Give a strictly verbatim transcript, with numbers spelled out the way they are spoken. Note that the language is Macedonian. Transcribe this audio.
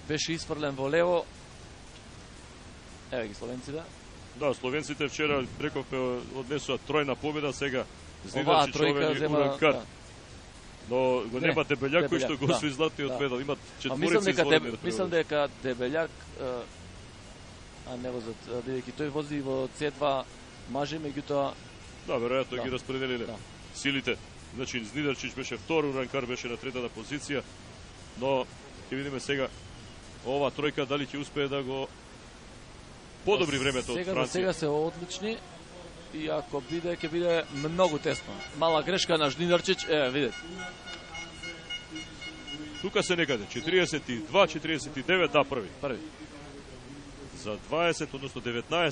беше isfрлен во лево. Еве ги словенците. Да, словенците вчера рековме однесува тројна победа, сега Оваа Знидачич тројка зема. Уранкар. Да. Но го Не, нема Дебелјак кој што го да, освои златниот да. медал. Имат А мислам четворица дека изволени Деб... да мислам превозат. дека Дебелјак, е, а не возат, бидејќи тој вози во Це два мажи, меѓутоа Да, веројатно Да. ги распределиле Да. силите. Значи Знидачич беше втор, Уранкар беше на третата позиција, но ќе видиме сега ова тројка дали ќе успее да го подобри времето од сега, Франција. сега се одлични и ако биде, ќе биде многу тесно. Мала грешка на Жнидарчич, е, видете. Тука се некаде четириесет и два четириесет и девет, да, први. Први. За дваесет, односно деветнаесет